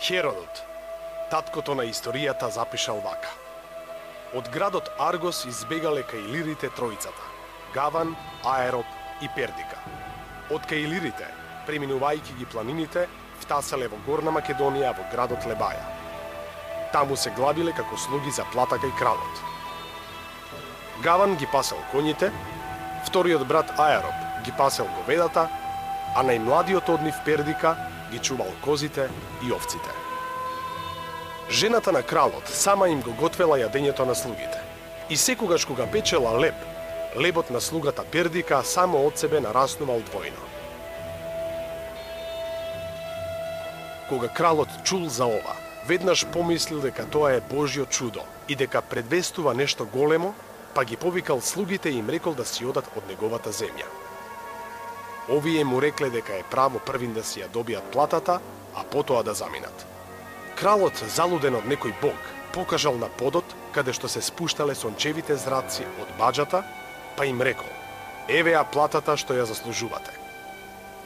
Херодот, таткото на историјата, запишал вака. Од градот Аргос избегале кај илирите тројцата – Гаван, Аероп и Пердика. Од кај илирите, преминувајќи ги планините, втаселе во Горна Македонија во градот Лебаја. Таму се главиле како слуги за плата кај кралот. Гаван ги пасел коњите, вториот брат Аероп ги пасел говедата, а најмладиот од нив Пердика ги чувал козите и овците. Жената на кралот сама им го готвела јадењето на слугите. И секогаш кога печела леб, лебот на слугата Пердика само од себе нараснувал двојно. Кога кралот чул за ова, веднаш помислил дека тоа е Божјо чудо и дека предвестува нешто големо, па ги повикал слугите и им рекол да си одат од неговата земја. Овие му рекле дека е право првин да си ја добијат платата, а потоа да заминат. Кралот, залуден од некој бог, покажал на подот, каде што се спуштале сончевите зраци од баџата, па им рекол: еве ја платата што ја заслужувате.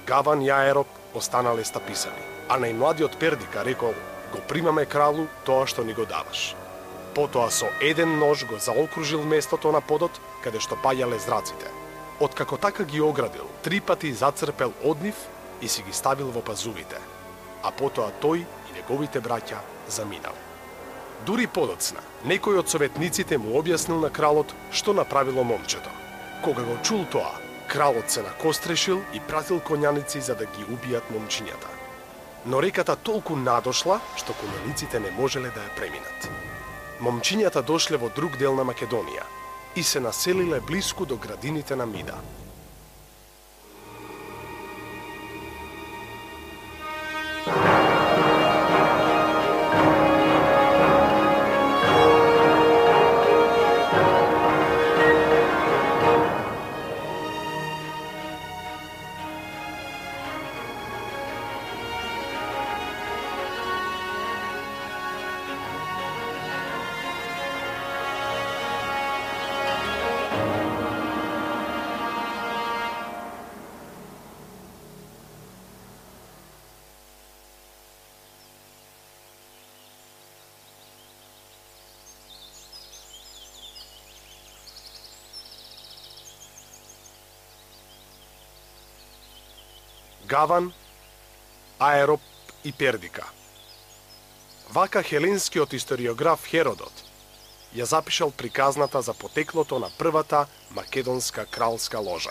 Гаван и Аероп останале стаписани, а најмладиот Пердика рекол: го примаме кралу тоа што ни го даваш. Потоа со еден нож го заокружил местото на подот, каде што паѓале зраците. Откако така ги оградил, 3 пати зацрпел од нив и си ги ставил во пазувите, а потоа тој и неговите браќа заминале. Дури подоцна, некој од советниците му објаснил на кралот што направило момчето. Кога го чул тоа, кралот се накострешил и пратил коњаници за да ги убијат момчињата. Но реката толку надошла, што коњаниците не можеле да ја преминат. Момчињата дошле во друг дел на Македонија и се населиле блиску до градините на Мида. Гаван, Аероп и Пердика. Вака хеленскиот историограф Херодот ја запишал приказната за потеклото на првата македонска кралска ложа.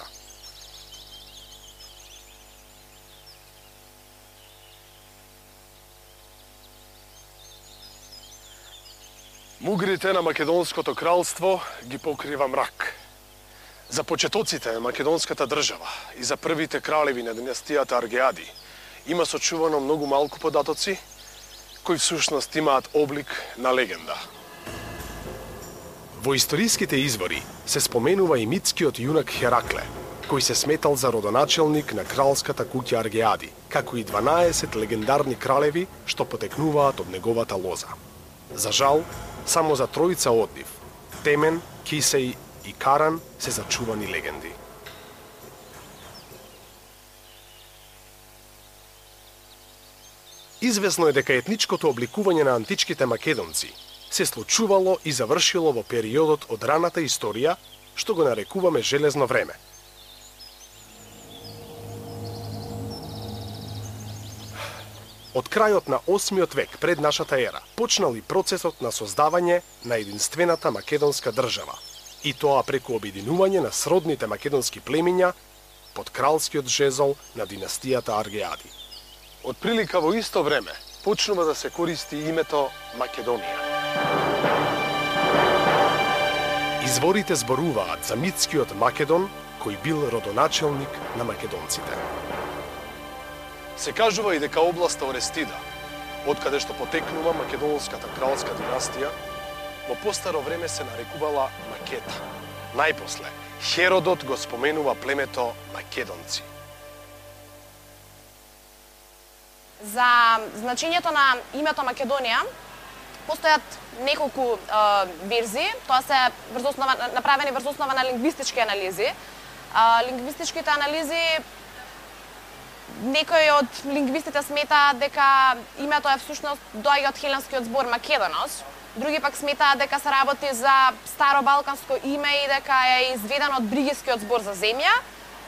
Мугрите на македонското кралство ги покрива мрак. За почетоците на македонската држава и за првите кралеви на династијата Аргеади има сочувано многу малку податоци, кои всушност имаат облик на легенда. Во историските извори се споменува и митскиот јунак Херакле, кој се сметал за родоначелник на кралската куќа Аргеади, како и 12 легендарни кралеви што потекнуваат од неговата лоза. За жал, само за тројца од нив, Темен, Кисеј и Каран, се зачувани легенди. Известно е дека етничкото обликување на античките македонци се случувало и завршило во периодот од раната историја, што го нарекуваме железно време. Од крајот на 8 век пред нашата ера почнал и процесот на создавање на единствената македонска држава, и тоа преку обединување на сродните македонски племиња под кралскиот жезол на династијата Аргеади. Од прилика во исто време почнува да се користи името Македонија. Изворите зборуваат за митскиот Македон, кој бил родоначелник на македонците. Се кажува и дека областа Орестида, од каде што потекнува македонската кралска династија, во постаро време се нарекувала Макета. Најпосле, Херодот го споменува племето македонци. За значењето на името Македонија постојат неколку верзии, тоа се направени врз основа на лингвистички анализи. Лингвистичките анализи Некои од лингвистите сметаат дека името е всушност доаѓа од хеленскиот збор Македонос, други пак сметаат дека се работи за старобалканско име и дека е изведено од бригискиот збор за земја.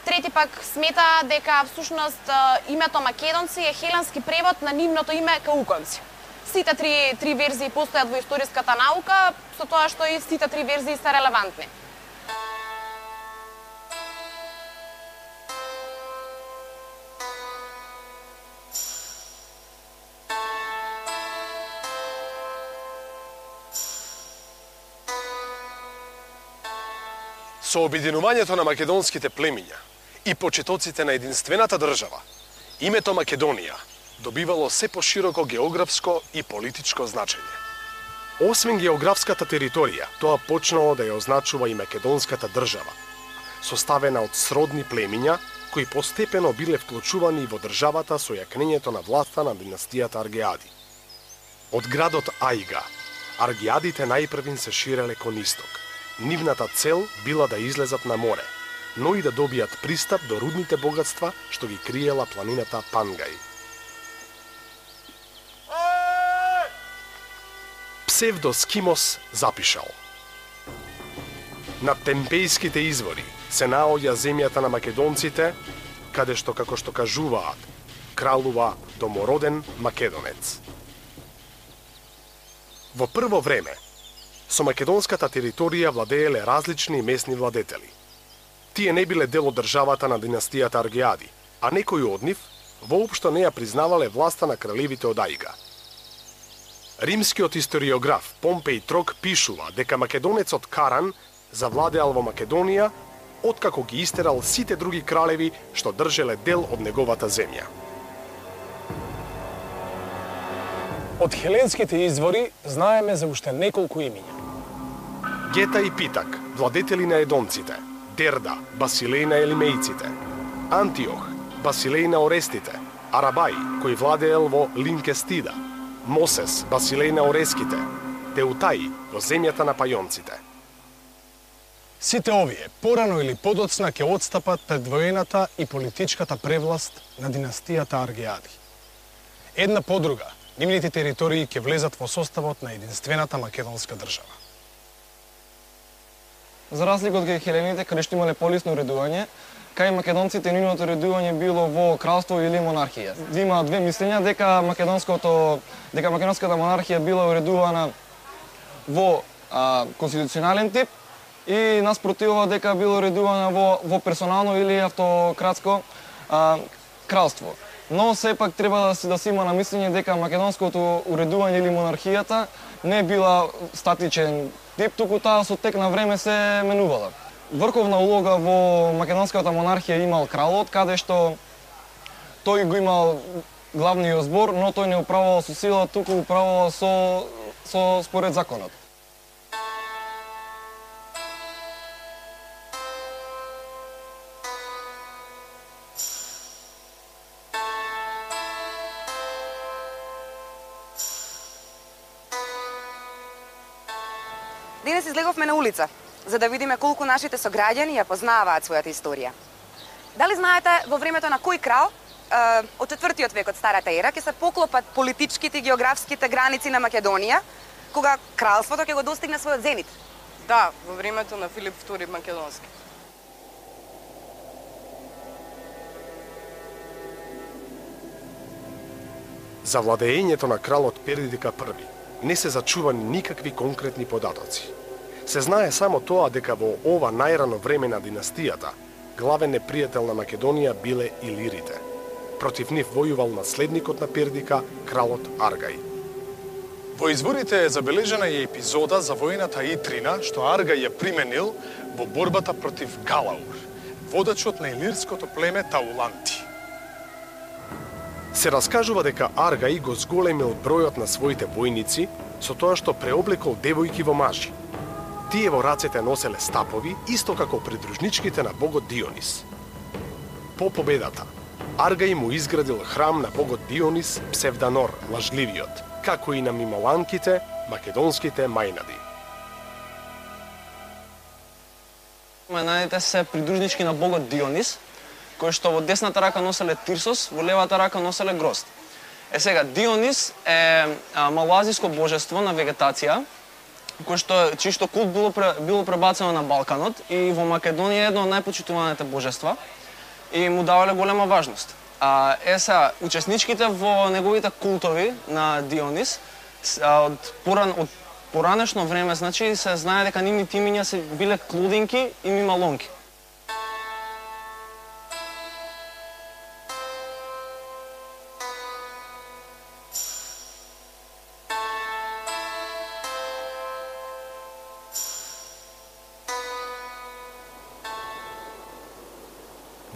Трети пак сметаат дека всушност името Македонци е хеленски превод на нивното име Кауконци. Сите три верзии постојат во историската наука, со тоа што и сите три верзии се релевантни. Со обединувањето на македонските племиња и почетоците на единствената држава, името Македонија добивало се пошироко географско и политичко значење. Освен географската територија, тоа почнало да ја означува и македонската држава, составена од сродни племиња кои постепено биле вклучувани во државата со јакнењето на власта на династијата Аргеади. Од градот Аига, Аргеадите најпрвин се ширеле кон исток. Нивната цел била да излезат на море, но и да добијат пристап до рудните богатства што ги криела планината Пангај. Псевдоскимос запишал: на темпејските извори се наоѓа земјата на македонците, каде што, како што кажуваат, кралува домороден македонец. Во прво време, со македонската територија владееле различни месни владетели. Тие не биле дел од државата на династијата Аргеади, а некои од нив воопшто не ја признавале власта на кралевите од Аига. Римскиот историограф Помпеј Трок пишува дека македонецот Каран завладеал во Македонија откако ги истерал сите други кралеви што држеле дел од неговата земја. Од хеленските извори знаеме за уште неколку имиња. Гета и Питак, владетели на едонците, Дерда, басилеј на елимејците, Антиох, басилеј на орестите, Арабај, кој владеел во Линкестида, Мосес, басилеј на ореските, Теутаи, во земјата на пајонците. Сите овие, порано или подоцна, ќе отстапат пред воената и политичката превласт на династијата Аргеади. Една по друга, нивните територии ќе влезат во составот на единствената македонска држава. За разлика од хелените, каде што имале полисно уредување, кај македонците нивното уредување било во кралство или монархија. Има две мислења дека македонската монархија била уредувана во конституционален тип и наспротивно дека била уредувана во персонално или автократско кралство. Но сепак треба да се има на мислење дека македонското уредување или монархијата не била статичен тип, туку таа со тек на време се менувала. Врховна улога во македонската монархија имал кралот, каде што тој го имал главниот збор, но тој не управувал со сила, туку управувал со според законот. Денес излеговме на улица, за да видиме колку нашите сограѓани ја познаваат својата историја. Дали знаете во времето на кој крал од 4-тиот век од Старата ера ќе се поклопат политичките и географските граници на Македонија, кога кралството ќе го достигне својот зенит? Да, во времето на Филип II Македонски. За владеењето на кралот Пердика I не се зачувани никакви конкретни податоци. Се знае само тоа дека во ова најрано време на династијата, главен непријател на Македонија биле илирите. Против нив војувал наследникот на Пердика, кралот Аргај. Во изворите е забележена и епизода за војната Итрина, што Аргај ја применил во борбата против Галаур, водачот на илирското племе Тауланти. Се раскажува дека Аргај го зголемил бројот на своите војници со тоа што преоблекол девојки во мажи. Тие во рацете носеле стапови, исто како придружничките на богот Дионис. По победата, Аргај му изградил храм на богот Дионис, Псевданор, лажливиот, како и на мимоланките, македонските мајнади. Мајнадите се придружнички на богот Дионис, кои што во десната рака носеле Тирсос, во левата рака носеле грозд. Сега, Дионис е малоазиско божество на вегетација, чишто култ било пребацено на Балканот и во Македонија е едно од најпочитуваните божества и му давале голема важност. Сега, учесничките во неговите култови на Дионис од поранешно време, значи, се знае дека нивните имиња се биле Клудинки и Мималонки.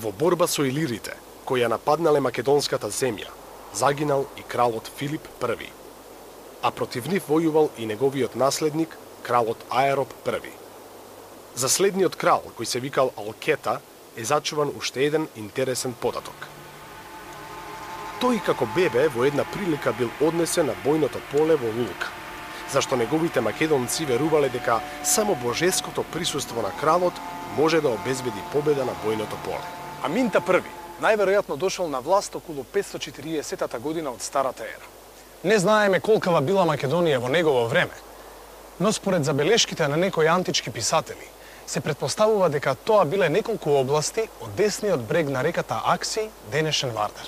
Во борба со илирите, кои ја нападнале македонската земја, загинал и кралот Филип I, а против нив војувал и неговиот наследник, кралот Аероп I. За следниот крал, кој се викал Алкета, е зачуван уште еден интересен податок. Тој како бебе во една прилика бил однесен на бојното поле во Лука, зашто неговите македонци верувале дека само божеското присуство на кралот може да обезбеди победа на бојното поле. Аминта I најверојатно дошол на власт околу 540 година од Старата ера. Не знаеме колкава била Македонија во негово време, но според забелешките на некои антички писатели, се претпоставува дека тоа биле неколку области од десниот брег на реката Акси, денешен Вардар.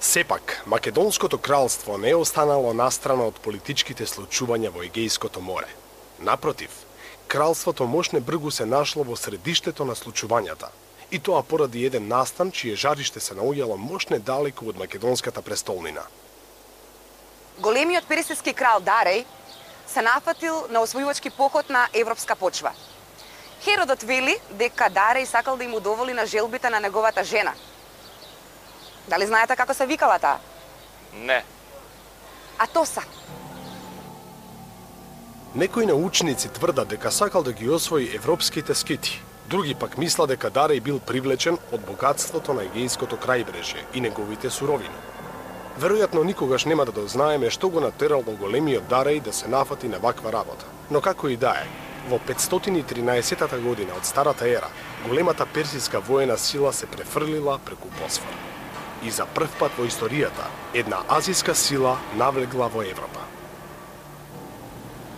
Сепак, Македонското кралство не е останало настрана од политичките случувања во Егејското море. Напротив, кралството Мошне бргу се нашло во средиштето на случувањата, и тоа поради еден настан чие жариште се наоѓало мошне далеку од македонската престолнина. Големиот персиски крал Дареј се нафатил на освојувачки поход на европска почва. Херодот вели дека Дареј сакал да им удоволи на желбите на неговата жена. Дали знаете како се викала таа? Не. Атоса. Некои научници тврдат дека сакал да ги освои европските скити. Други пак мислат дека Дареј бил привлечен од богатството на Егејското крајбрежје и неговите суровини. Веројатно никогаш нема да дознаеме што го натерало големиот Дареј да се нафати на ваква работа. Но како и да е, во 513 година од Старата ера, големата персиска воена сила се префрлила преку Босфор. И за прв пат во историјата, една азиска сила навлегла во Европа.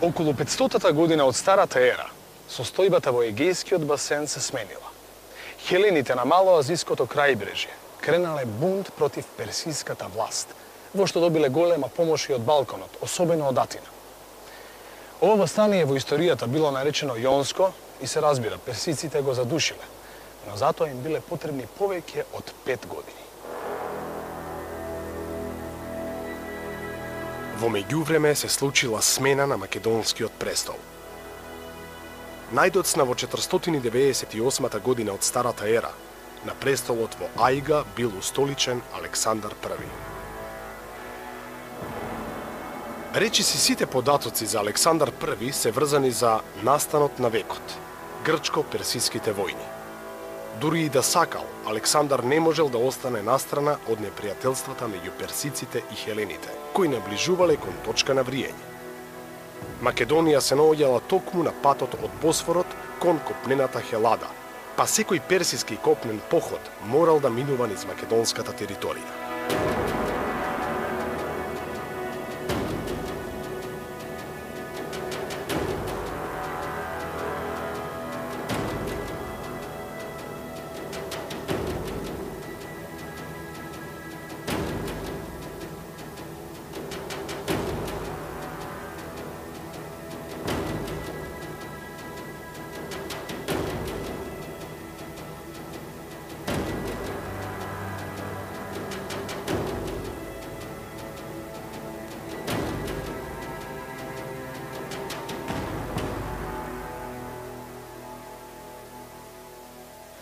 Околу 500 година од Старата ера, состојбата во Егејскиот басен се сменила. Хелените на малоазиското крајбрежје кренале бунт против персиската власт, во што добиле голема помош и од Балканот, особено од Атина. Ова востание во историјата било наречено Јонско и се разбира, персиците го задушиле, но затоа им биле потребни повеќе од 5 години. Во меѓувреме се случила смена на македонскиот престол. Најдоцна во 498 година од Старата ера, на престолот во Ајга бил устоличен Александар I. Речиси сите податоци за Александар I се врзани за настанот на векот, грчко-персиските војни. Дури и да сакал, Александар не можел да остане настрана од непријателствата меѓу персиците и хелените, кои наближувале кон точка на вриење. Македонија се наоѓала токму на патот од Босфорот кон копнената Хелада, па секој персиски копнен поход морал да минува низ македонската територија.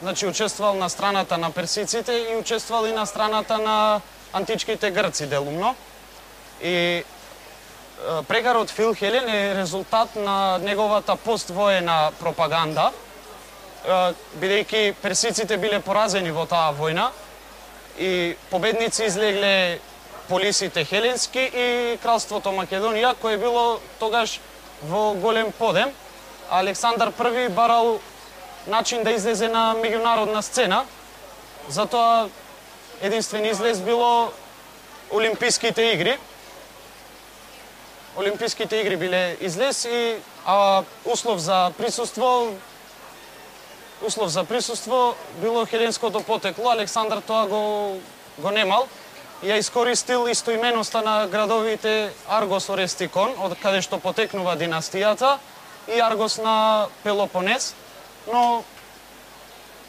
Значи, учествувал на страната на персиците и учествувал и на страната на античките грци делумно. И прегарот Фил Хелен е резултат на неговата поствоена пропаганда, бидејќи персиците биле поразени во таа војна и победници излегле полисите хеленски и кралството Македонија, кое било тогаш во голем подем. Александар I барал начин да излезе на меѓународна сцена затоа единствен излез било Олимписките игри. Олимписките игри биле излез и услов за присуство било хеленското потекло. Александар тоа го немал и ја искористил истоименоста на градовите Аргос Орестикон, од каде што потекнува династијата, и Аргос на Пелопонес, но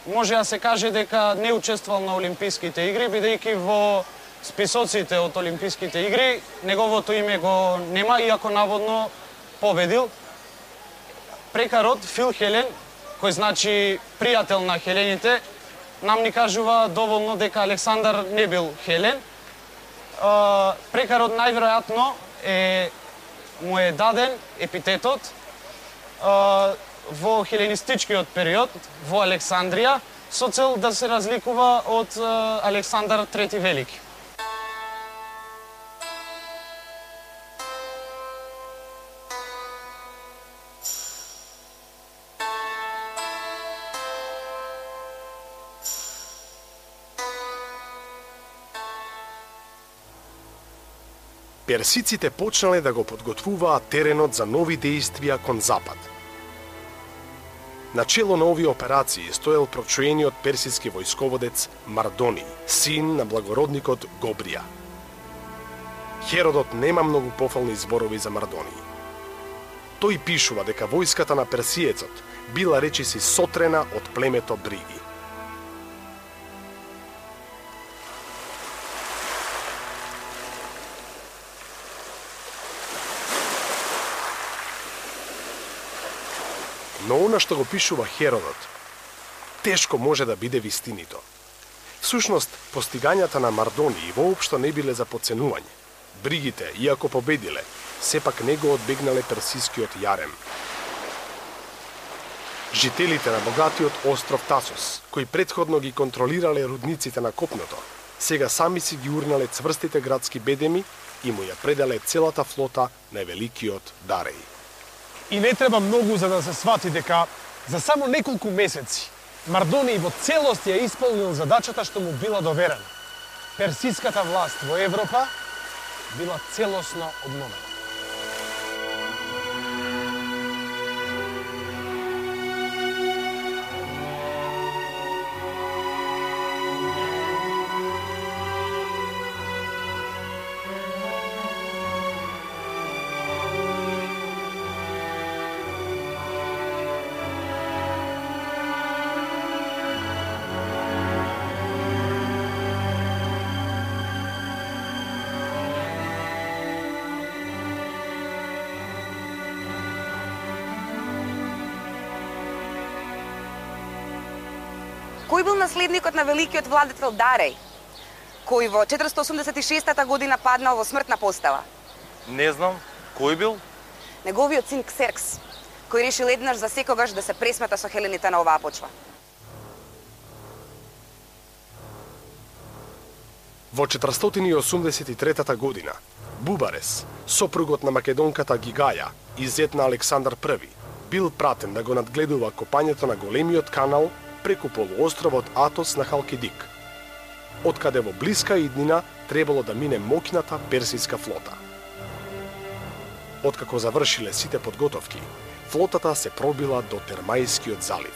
може да се каже дека не учествувал на Олимписките игри, бидејќи во списоците од Олимписките игри неговото име го нема, иако наводно победил. Прекарот Фил Хелен, кој значи пријател на хелените, нам ни кажува доволно дека Александар не бил хелен. Прекарот најверојатно му е даден епитетот во хеленистичкиот период во Александрија со цел да се разликува од Александар Трети Велики. Персиците почнале да го подготвуваат теренот за нови дејствија кон запад. Начело на овие операции стоел прочуениот персиски војсководец Мардони, син на благородникот Гобрија. Херодот нема многу пофални зборови за Мардони. Тој пишува дека војската на персиецот била речиси сотрена од племето Бриги. Но она што го пишува Херодот, тешко може да биде вистинито. Всушност, постигањата на Мардони воопшто не биле за подценување. Бригите, иако победиле, сепак не го одбегнале персискиот јарем. Жителите на богатиот остров Тасос, кои претходно ги контролирале рудниците на копното, сега сами си ги урнале цврстите градски бедеми и му ја предале целата флота на великиот Дареј. И не треба многу за да се свати дека за само неколку месеци Мардони во целост ја исполнил задачата што му била доверена. Персиската власт во Европа била целосно обновена. Кој бил наследникот на великиот владетел Дареј, кој во 486 година паднал во смртна постела? Не знам, кој бил? Неговиот син Ксеркс, кој решил еднаш за секогаш да се пресмета со хелените на оваа почва. Во 483 година, Бубарес, сопругот на македонката Гигаја и зет на Александар I, бил пратен да го надгледува копањето на големиот канал преку полуостровот Атос на Халкидик, откаде во блиска иднина требало да мине моќната персиска флота. Откако завршиле сите подготовки, флотата се пробила до Термајскиот залив.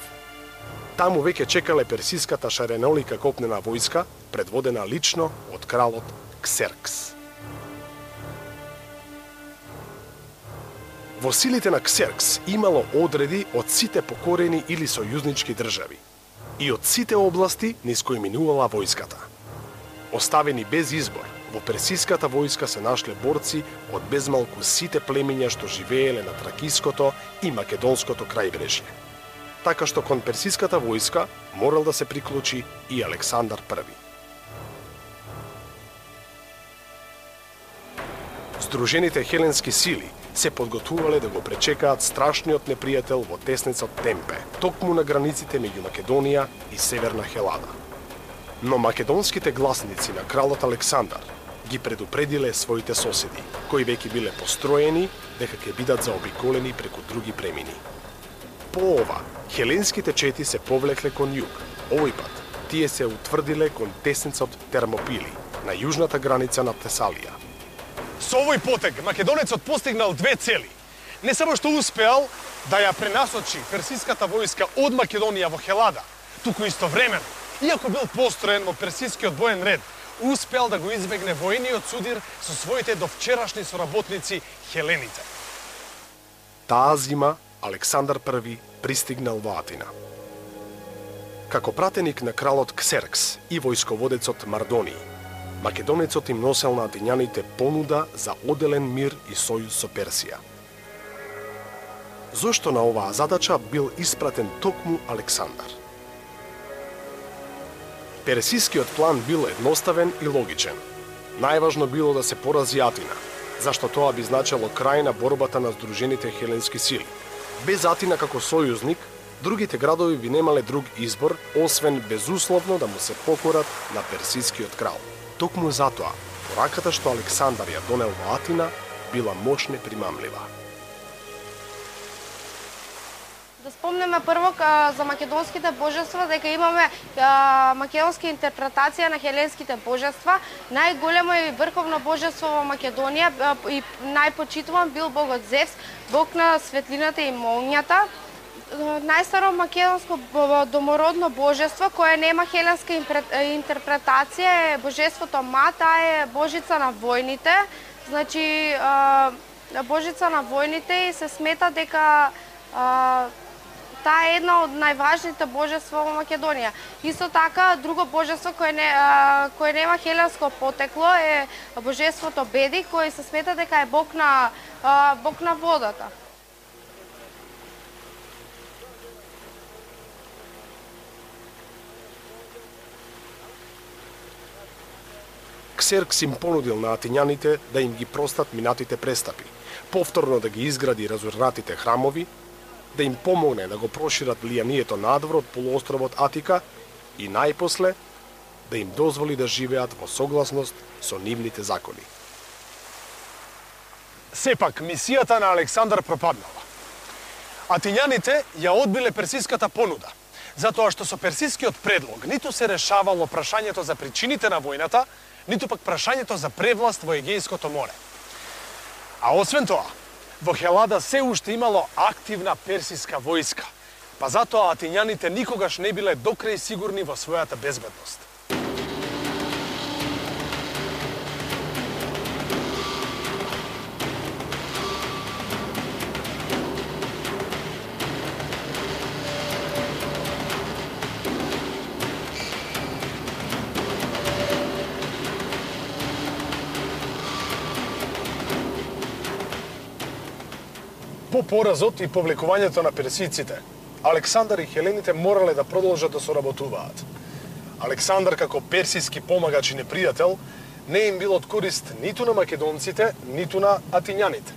Таму веќе чекале персиската шаренолика копнена војска, предводена лично од кралот Ксеркс. Во силите на Ксеркс имало одреди од сите покорени или сојузнички држави и од сите области низ кои минувала војската. Оставени без избор, во персиската војска се нашле борци од безмалку сите племиња што живееле на Тракиското и Македонското крајбрежје. Така што кон персиската војска морал да се приклучи и Александар I. Здружените хеленски сили се подготвувале да го пречекаат страшниот непријател во тесницот Темпе, токму на границите меѓу Македонија и Северна Хелада. Но македонските гласници на кралот Александар ги предупредиле своите соседи, кои веќе биле построени дека ќе бидат заобиколени преку други премини. По ова, хеленските чети се повлекле кон југ, овој пат Тие се утврдиле кон тесницот Термопили, на јужната граница на Тесалија. Со овој потег македонецот постигнал две цели. Не само што успеал да ја пренасочи персиската војска од Македонија во Хелада, туку истовремено, иако бил построен во персискиот боен ред, успеал да го избегне војниот судир со своите довчерашни соработници хелените. Таа зима Александар I пристигнал во Атина. Како пратеник на кралот Ксеркс и војсководецот Мардони, македонецот им носел на атињаните понуда за оделен мир и сојуз со Персија. Зошто на оваа задача бил испратен токму Александар? Персискиот план бил едноставен и логичен. Најважно било да се порази Атина, зашто тоа би значело крај на борбата на здружените хеленски сили. Без Атина како сојузник, другите градови би немале друг избор, освен безусловно да му се покорат на персискиот крал. Токму затоа, пораката што Александар ја донел во Атина била мощно примамлива. Да спомнеме прво за македонските божества, дека имаме македонска интерпретација на хеленските божества. Најголемо и врховно божество во Македонија и најпочитуван бил богот Зевс, бог на светлината и молњата. Најстаро македонско домородно божество кое нема хеленска интерпретација е божеството Ма, таа е божица на војните. Значи, божица на војните и се смета дека таа е една од најважните божества во Македонија. Исто така, друго божество кое нема хеленско потекло е божеството Беди, кој се смета дека е бог на водата. Ксеркс им понудил на атињаните да им ги простат минатите престапи, повторно да ги изгради разурнатите храмови, да им помогне да го прошират влијанието надвор од полуостровот Атика и најпосле да им дозволи да живеат во согласност со нивните закони. Сепак, мисијата на Александар пропаднала. Атињаните ја одбиле персиската понуда, затоа што со персискиот предлог ниту се решавало прашањето за причините на војната, ниту пак прашањето за превласт во Егејското море. А освен тоа, во Хелада се уште имало активна персиска војска, па затоа атињаните никогаш не биле докрај сигурни во својата безбедност. По поразот и повлекувањето на персиците, Александар и хелените морале да продолжат да соработуваат. Александар како персиски помагач и непријател не им бил од корист ниту на македонците, ниту на атињаните.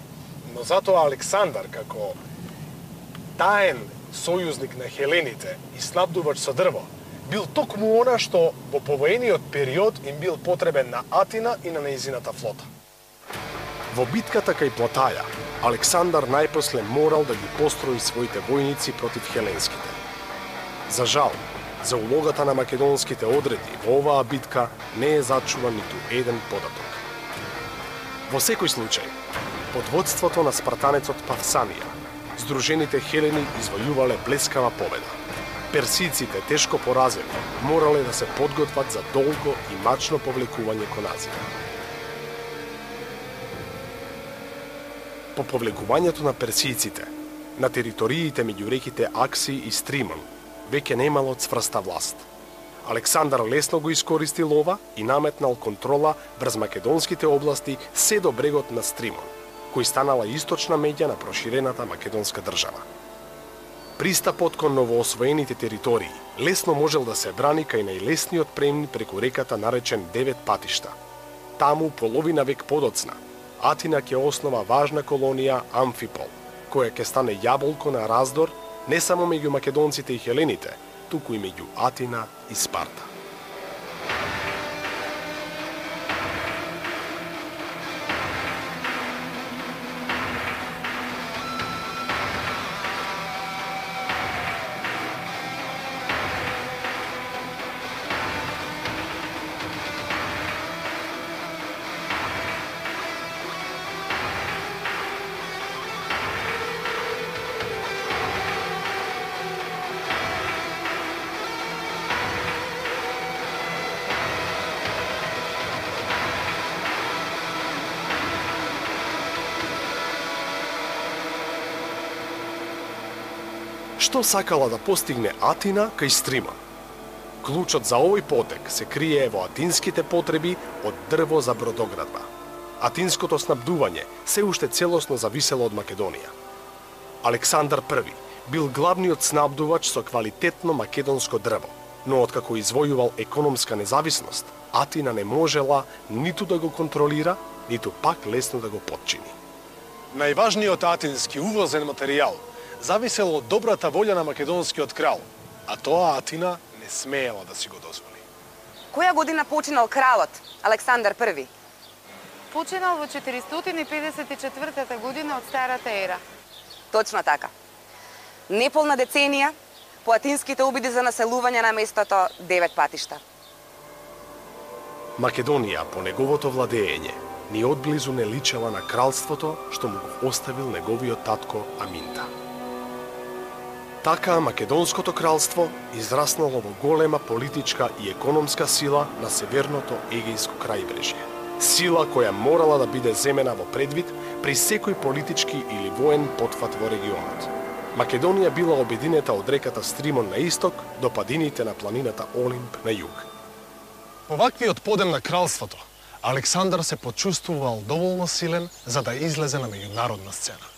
Но затоа Александар како таен сојузник на хелените и снабдувач со дрво бил токму она што во повоениот период им бил потребен на Атина и на нејзината флота. Во битката кај Платаја, Александар најпосле морал да ги построи своите војници против хеленските. За жал, за улогата на македонските одреди во оваа битка не е зачуван ниту еден податок. Во секој случај, под водството на спартанецот Павсанија, здружените хелени извојувале блескава победа. Персиците, тешко поразени, морале да се подготват за долго и мачно повлекување кон Азија. По повлекувањето на персиците, на териториите меѓу реките Акси и Стримон, веќе немало цврста власт. Александар лесно го искористил ова и наметнал контрола врз македонските области се до брегот на Стримон, кој станала источна меѓа на проширената македонска држава. Пристапот кон новоосвоените територии лесно можел да се брани кај најлесниот премин преку реката наречен Девет патишта. Таму, половина век подоцна, Атина ќе основа важна колонија Амфипол, која ќе стане јаболко на раздор не само меѓу македонците и хелените, туку и меѓу Атина и Спарта. Што сакала да постигне Атина кај Стрима? Клучот за овој потек се крие во атинските потреби од дрво за бродоградба. Атинското снабдување се уште целосно зависело од Македонија. Александар I бил главниот снабдувач со квалитетно македонско дрво, но откако извојувал економска независност, Атина не можела ниту да го контролира, ниту пак лесно да го подчини. Најважниот атински увозен материјал зависел од добрата волја на македонскиот крал, а тоа Атина не смеела да си го дозволи. Која година починал кралот Александар I? Починал во 454 година од Старата ера. Точно така. Неполна деценија по атинските обиди за населување на местото 9 патишта. Македонија по неговото владеење ни одблизу не личела на кралството што му го оставил неговиот татко Аминта. Така Македонското кралство израснало во голема политичка и економска сила на северното Егејско крајбрежје. Сила која морала да биде земена во предвид при секој политички или воен потфат во регионот. Македонија била обединета од реката Стримон на исток до падините на планината Олимп на југ. По ваквиот подем на кралството, Александар се почувствувал доволно силен за да излезе на меѓународна сцена.